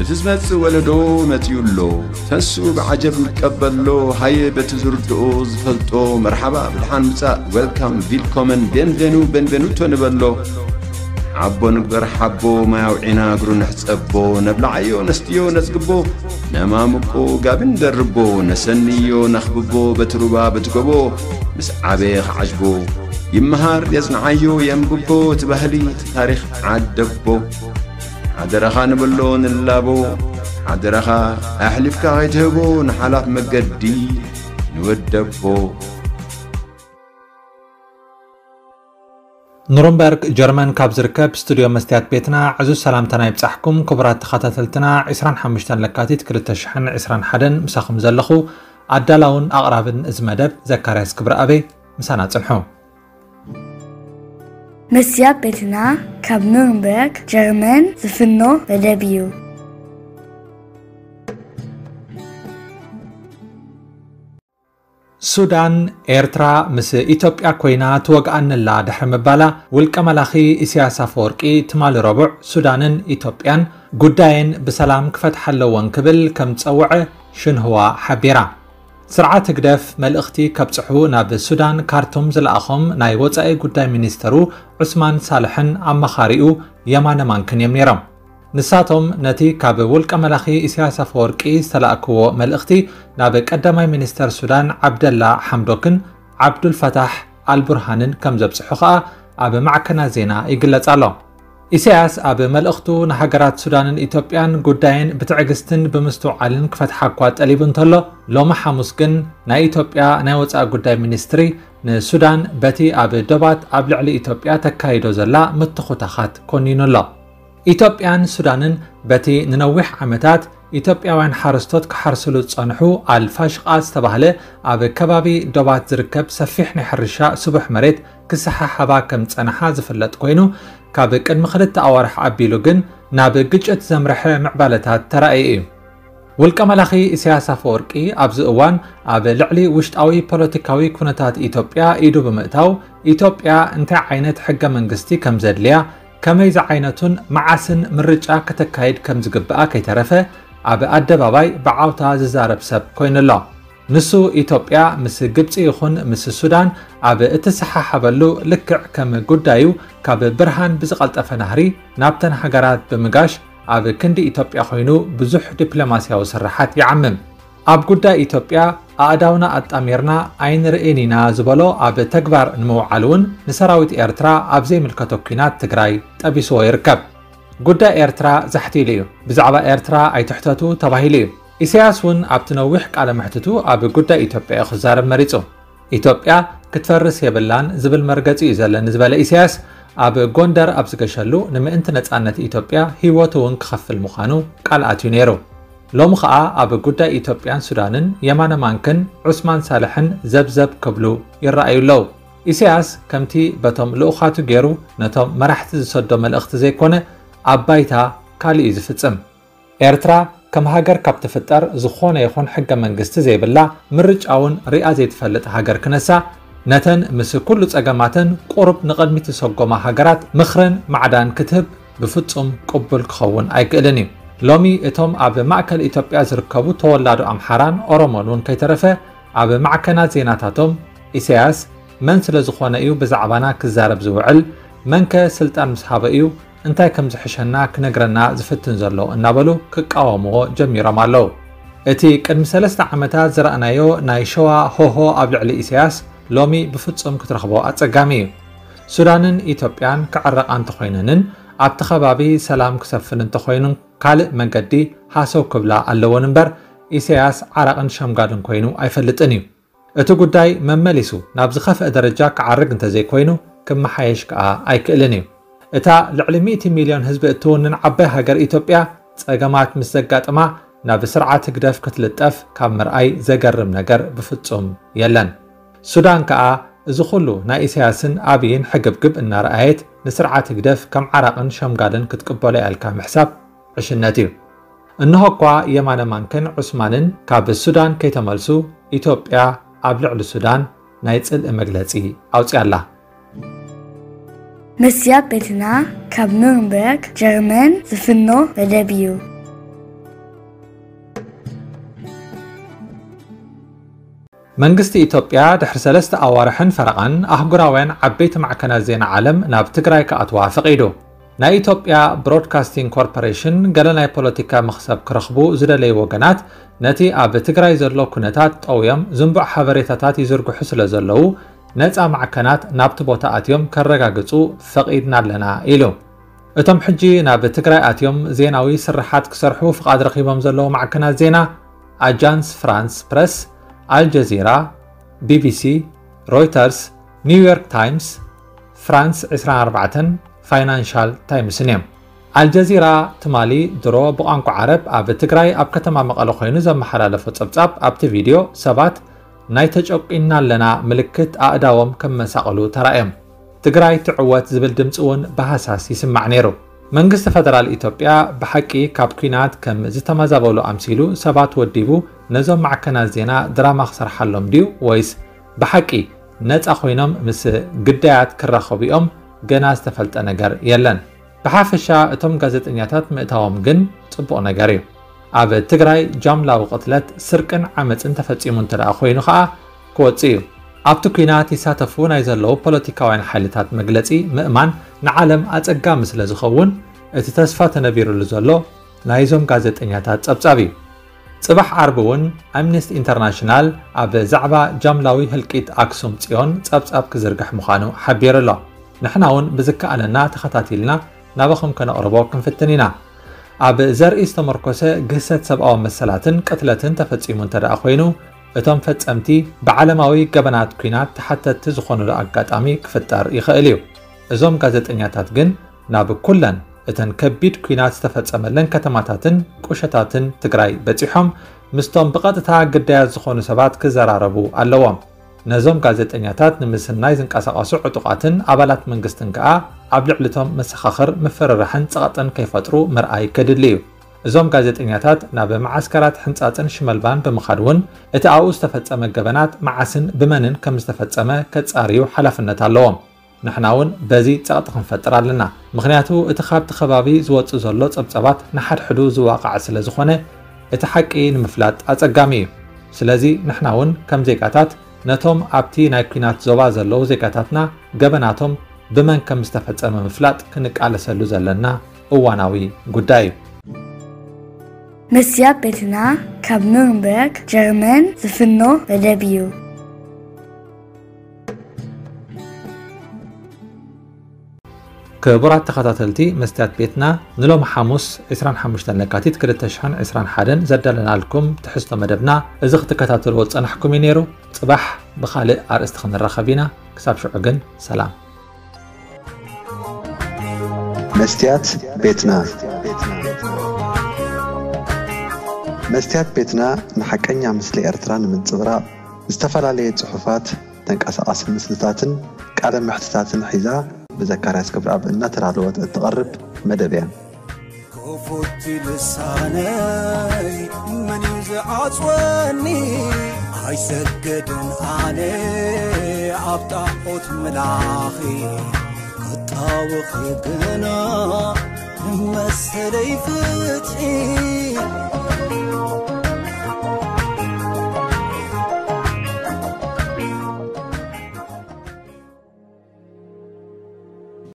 እቲ ዝመጽእ ወለዶ መጺኡ ኣሎ። ተንስኡ ብዓጀብ ንቀበሎ። ሃየ በቲ ዝርድኦ ዝፈልጦ መርሓባ ብድሓን ምጻእ፣ ዌልካም፣ ቪልኮመን፣ ቤንቬኑ፣ ቤንቬኑቶ ንበሎ። ሓቦ ንግበር ሓቦ፣ ማይ ኣውዒና እግሩ ንሕጸቦ። ነብልዓዮ ነስትዮ ነጽግቦ፣ ነማምቆ ጋቢ ንደርቦ። ነሰንዮ ነኽብቦ በቲ ሩባ በቲ ጎቦ። ምስ ዓበየ ክዓጅቦ ይመሃር የጽንዓዮ የንብቦ። እቲ ባህሊ እቲ ታሪኽ ዓደቦ። ሓደራኻ ንብሎ ንላቦ። ሓደራኻ ኣሕሊፍካ ከይትህቦ ንሓላፍ መገዲ ንወደቦ። ኑርንበርግ ጀርመን ካብ ዝርከብ ስቱድዮ መስትያት ቤትና ዕዙዝ ሰላምታና ይብጻሕኩም። ክቡራት ተኸታተልትና፣ ዕስራን ሓሙሽተን ለካቲት ክልተ ሽሕን ዕስራን ሓደን ምሳኹም ዘለኹ ኣዳላውን ኣቕራብን እዚ መደብ ዘካርያስ ክብረኣበይ። ምሳና ጽንሑ። መስትያት ቤትና ካብ ኑርንበርግ ጀርመን ዝፍኖ መደብ እዩ። ሱዳን፣ ኤርትራ ምስ ኢትዮጵያ ኮይና ትወግኣኒ ኣላ ድሕሪ ምባላ፣ ውልቀ መላኺ ኢሳያስ ኣፈወርቂ ትማሊ ረቡዕ ሱዳንን ኢትዮጵያን ጉዳየን ብሰላም ክፈትሓ ኣለወን ክብል ከም ዝጸውዐ ሽንህዋ ሓቢራ። ስርዓት ህግደፍ መልእኽቲ ከብጽሑ ናብ ሱዳን ካርቱም ዝለኣኾም ናይ ወጻኢ ጉዳይ ሚኒስተሩ ዑስማን ሳልሕን ኣማኻሪኡ የማነ ማንክን እዮም ነይሮም። ንሳቶም ነቲ ካብ ውልቀ መላኺ ኢሳያስ ኣፈወርቂ ዝተላእክዎ መልእኽቲ ናብ ቀዳማይ ሚኒስተር ሱዳን ዓብደላ ሓምዶክን ዓብዱልፈታሕ ኣልቡርሃንን ከም ዘብጽሑ ከኣ ኣብ ማዕከናት ዜና ይግለጽ ኣሎ። ኢሳያስ ኣብ መልእኽቱ ንሃገራት ሱዳንን ኢትዮጵያን ጉዳየን ብትዕግስትን ብምስትውዓልን ክፈትሓ እኳ ጠሊቡ እንተሎ፣ ሎሚ ሓሙስ ግን ናይ ኢትዮጵያ ናይ ወጻኢ ጉዳይ ሚኒስትሪ ንሱዳን በቲ ኣብ ዶባት ኣብ ልዕሊ ኢትዮጵያ ተካይዶ ዘላ ምትኹታኻት ኮኒኑ ኣሎ። ኢትዮጵያን ሱዳንን በቲ ንነዊሕ ዓመታት ኢትዮጵያውያን ሓረስቶት ክሓርስሉ ዝጸንሑ ኣልፋሽቃ ዝተባህለ ኣብ ከባቢ ዶባት ዝርከብ ሰፊሕ ናይ ሕርሻ ስቡሕ መሬት ክሰሓሓባ ከም ዝጸንሓ ዝፍለጥ ኮይኑ፣ ካብ ቅድሚ ክልተ ኣዋርሕ ኣቢሉ ግን ናብ ግጭት ዘምረሐ ምዕባለታት ተራእዩ እዩ። ውልቀ መላኺ ኢሳያስ ኣፈወርቂ ኣብዚ እዋን ኣብ ልዕሊ ውሽጣዊ ፖለቲካዊ ኩነታት ኢትዮጵያ ኢዱ ብምእታው፣ ኢትዮጵያ እንታይ ዓይነት ሕገ መንግስቲ ከም ዘድልያ፣ ከመይ ዝዓይነቱን መዓስን ምርጫ ከተካይድ ከም ዝግብኣ ከይተረፈ ኣብ ኣደባባይ ብዓውታ ዝዛረብ ሰብ ኮይኑ ኣሎ። ንሱ ኢትዮጵያ ምስ ግብጺ ይኹን ምስ ሱዳን ኣብ እትሰሓሓበሉ ልክዕ ከም ጉዳዩ ካብ ብርሃን ብዝቐልጠፈ ናህሪ ናብተን ሃገራት ብምጋሽ ኣብ ክንዲ ኢትዮጵያ ኮይኑ ብዙሕ ዲፕሎማስያዊ ስርሓት ይዓምም። ኣብ ጉዳይ ኢትዮጵያ ኣእዳውና ኣጣሚርና ኣይንርእን ኢና ዝበሎ ኣብ ተግባር ንምውዓል እውን ንሰራዊት ኤርትራ ኣብ ዘይምልከቶ ኲናት ትግራይ ጠቢስዎ ይርከብ። ጉዳይ ኤርትራ ዛሕቲሉ እዩ። ብዛዕባ ኤርትራ ኣይትሕተቱ ተባሂሉ እዩ። ኢሳያስ እውን ኣብቲ ነዊሕ ቃለ መሕትቱ ኣብ ጉዳይ ኢትዮጵያ እዩ ክዛረብ መሪጹ። ኢትዮጵያ ክትፈርስ የብላን ዝብል መርገጺ እዩ ዘለኒ ዝበለ ኢሳያስ ኣብ ጎንደር ኣብ ዝገሸሉ ንምእንቲ ነጻነት ኢትዮጵያ ህይወቱ እውን ክኸፍል ምዃኑ ቃል ኣትዩ ነይሩ። ሎሚ ኸኣ ኣብ ጉዳይ ኢትዮጵያን ሱዳንን የማነ ማንክን ዑስማን ሳልሕን ዘብዘብ ክብሉ ይረኣዩ ኣለዉ። ኢሳያስ ከምቲ በቶም ልኡኻቱ ገይሩ ነቶም መራሕቲ ዝሰዶ መልእኽቲ ዘይኮነ ኣብ ባይታ ካልእ እዩ ዝፍጽም። ኤርትራ ከም ሃገር ካብ ትፍጠር ዝኾነ ይኹን ሕገ መንግስቲ ዘይብላ ምርጫ እውን ሪኣ ዘይትፈልጥ ሃገር ክነሳ ነተን ምስ ኩሉ ጸገማተን ቁሩብ ንቕድሚት ዝሰጎማ ሃገራት ምኽርን ማዕዳን ክትህብ ብፍጹም ቅቡል ክኸውን ኣይክእልን እዩ። ሎሚ እቶም ኣብ ማእከል ኢትዮጵያ ዝርከቡ ተወላዶ ኣምሓራን ኦሮሞን እውን ከይተረፈ ኣብ ማዕከናት ዜናታቶም ኢሳያስ መን ስለ ዝኾነ እዩ ብዛዕባና ክዛረብ ዝውዕል? መንከ ስልጣን ምስ ሃበ እዩ እንታይ ከም ዝሕሸና ክነግረና ዝፍትን ዘሎ እናበሉ ክቃወምዎ ጀሚሮም ኣለዉ። እቲ ቅድሚ ሰለስተ ዓመታት ዝረኣናዮ ናይ ሸዋ ሆሆ ኣብ ልዕሊ ኢሳያስ ሎሚ ብፍጹም ክትረኽቦ ኣጸጋሚ እዩ። ሱዳንን ኢትዮጵያን ክዕረቓ እንተኾይነንን ኣብቲ ከባቢ ሰላም ክሰፍን እንተኾይኑን ካልእ መገዲ ሃሰው ክብላ ኣለወን እምበር ኢሳያስ ዓራቕን ሸምጋልን ኮይኑ ኣይፈልጥን እዩ። እቲ ጉዳይ መመሊሱ ናብ ዝኸፍአ ደረጃ ክዓርግ እንተዘይኮይኑ ክመሓየሽ ከኣ ኣይክእልን እዩ። እታ ልዕሊ ሚእቲ ሚልዮን ህዝቢ እትውንን ዓባይ ሃገር ኢትዮጵያ ጸገማት ምስ ዘጋጥማ ናብ ስርዓት ህግደፍ ክትልጠፍ ካብ ምርኣይ ዘገርም ነገር ብፍጹም የለን። ሱዳን ከኣ እዚ ኩሉ ናይ ኢሳያስን ኣብይን ሕግብግብ እናረኣየት ንስርዓት ህግደፍ ከም ዓራቕን ሸምጋልን ክትቅበሎ እያ ኢልካ ምሕሳብ ዕሽነት እዩ። እንሆ እኳ የማነ ማንክን ዑስማንን ካብ ሱዳን ከይተመልሱ ኢትዮጵያ ኣብ ልዕሊ ሱዳን ናይ ጽልኢ መግለጺ ኣውጺኣ ኣላ። መስትያት ቤትና ካብ ኑርንበርግ ጀርመን ዝፍኖ መደብ እዩ። መንግስቲ ኢትዮጵያ ድሕሪ ሰለስተ ኣዋርሕን ፈረቓን ኣህጉራውያን ዓበይቲ ማዕከናት ዜና ዓለም ናብ ትግራይ ክኣትዋ ፈቒዱ። ናይ ኢትዮጵያ ብሮድካስቲንግ ኮርፖሬሽን ገለ ናይ ፖለቲካ መኽሰብ ክረኽቡ ዝደለዩ ወገናት ነቲ ኣብ ትግራይ ዘሎ ኩነታት ጠውዮም ዝንቡዕ ሓበሬታታት ይዝርግሑ ስለ ዘለዉ ነፃ ማዕከናት ናብቲ ቦታ ኣትዮም ከረጋግፁ ፈቒድና ኣለና ኢሉ። እቶም ሕጂ ናብ ትግራይ ኣትዮም ዜናዊ ስርሓት ክሰርሑ ፍቓድ ረኺቦም ዘለዉ ማዕከናት ዜና ኣጃንስ ፍራንስ ፕረስ፣ ኣልጀዚራ፣ ቢቢሲ፣ ሮይተርስ፣ ኒውዮርክ ታይምስ፣ ፍራንስ ዕስራን ኣርባዕተን፣ ፋይናንሻል ታይምስን እዮም። ኣልጀዚራ ትማሊ ድሮ ብቋንቋ ዓረብ ኣብ ትግራይ ኣብ ከተማ መቐለ ኮይኑ ዘመሓላለፎ ጸብጻብ ኣብቲ ቪድዮ ሰባት ናይ ተጨቂንና ኣለና ምልክት ኣእዳዎም ከመሳቕሉ ተራእዮም። ትግራይ ትዕወት ዝብል ድምፂ እውን ብሃሳስ ይስማዕ ነይሩ። መንግስቲ ፈደራል ኢትዮጵያ ብሓቂ ካብ ኲናት ከም ዝተመዛበሉ ኣምሲሉ ሰባት ወዲቡ ነዞም ማዕከናት ዜና ድራማ ክሰርሓሎም ድዩ ወይስ ብሓቂ ነፃ ኮይኖም ምስ ግዳያት ክራኸቡ እዮም? ገና ዝተፈልጠ ነገር የለን። ብሓፈሻ እቶም ጋዜጠኛታት ምእታዎም ግን ፅቡቕ ነገር እዩ። ኣብ ትግራይ ጃምላዊ ቅትለት፣ ስርቅን ዓመፅን ተፈፂሙ እንተ ደኣ ኮይኑ ኸዓ ክወፅእ እዩ። ኣብቲ ኲናት ይሳተፉ ናይ ዘለዉ ፖለቲካውያን ሓይልታት መግለፂ ምእማን ንዓለም ኣፀጋሚ ስለ ዝኸውን እቲ ተስፋ ተነቢሩሉ ዘሎ ናይዞም ጋዜጠኛታት ፀብፃብ እዩ። ፅባሕ ዓርቢ እውን ኣምነስቲ ኢንተርናሽናል ኣብ ዛዕባ ጃምላዊ ህልቂት ኣክሱም ፅዮን ፀብፃብ ክዝርግሕ ምዃኑ ሓቢሩ ኣሎ። ንሕና እውን ብዝከኣለና ተኸታቲልና ናባኹም ከነቕርቦ ክንፍትን ኢና። ኣብ ዘርኢ ዝተመርኮሰ ግህሰት ሰብኣዊ መሰላትን ቅትለትን ተፈጺሙ እንተ ደኣ ኮይኑ እቶም ፈጸምቲ ብዓለማዊ ገበናት ኲናት ተሓተትቲ ዝኾኑሉ ኣጋጣሚ ክፍጠር ይኽእል እዩ። እዞም ጋዜጠኛታት ግን ናብ ኩለን እተን ከቢድ ኲናት ዝተፈጸመለን ከተማታትን ቁሸታትን ትግራይ በጺሖም ምስቶም ብቐጥታ ግዳያት ዝኾኑ ሰባት ክዘራረቡ ኣለዎም። ነዞም ጋዜጠኛታት ንምስናይ ዝንቀሳቐሱ ዕጡቓትን ኣባላት መንግስትን ከኣ ኣብ ልዕሊቶም መሰኻኽር ምፍርራሕን ጸቕጥን ከይፈጥሩ ምርኣይ ከድሊ እዩ። እዞም ጋዜጠኛታት ናብ መዓስከራት ሕንጻጽን ሽመልባን ብምኻድ እውን እቲ ኣብኡ ዝተፈጸመ ገበናት መዓስን ብመንን ከም ዝተፈጸመ ከጻርዩ ሓላፍነት ኣለዎም። ንሕና እውን በዚ ጸቕጢ ክንፈጥር ኣለና። ምኽንያቱ እቲ ካብቲ ከባቢ ዝወጽእ ዘሎ ጸብጻባት ንሓድሕዱ ዝዋቓዕ ስለ ዝኾነ እቲ ሓቂ ንምፍላጥ ኣጸጋሚ እዩ። ስለዚ ንሕና እውን ከም ዜጋታት ነቶም ኣብቲ ናይ ኲናት ዞባ ዘለዉ ዜጋታትና ገበናቶም ብመን ከም ዝተፈጸመ ምፍላጥ ክንቃለሰሉ ዘለና እዋናዊ ጉዳይ እዩ። መስትያት ቤትና ካብ ኑርንበርግ ጀርመን ዝፍኖ መደብ እዩ። ክቡራት ተኸታተልቲ መስትያት ቤትና ንሎሚ ሓሙስ ዕስራን ሓሙሽተን ለካቲት ክልተ ሽሕን ዕስራን ሓደን ዘዳለናልኩም ትሕዝቶ መደብና እዚ ክትከታተልዎ ዝጸናሕኩም እዩ ነይሩ። ጽባሕ ብኻልእ ኣርእስቲ ክንራኸብ ኢና። ክሳብ ሽዑ ግን ሰላም። መስትያት ቤትና መስትያት ቤትና ንሓቀኛ ምስሊ ኤርትራ ንምንጽብራቕ ዝተፈላለየ ጽሑፋት፣ ተንቀሳቓሲ ምስልታትን ቃለ መሕትታትን ሒዛ ብዘካርያስ ገብረኣብ እናተዳለወት እትቐርብ መደብ እያ። ክፉት ልሳነይ መን እዩ ዝዓጽወኒ? ኣይሰግድን ኣነ ኣብ ጣዖት ምላኺ ክጣወኺ ግና ንመሰለይ ፍትሒ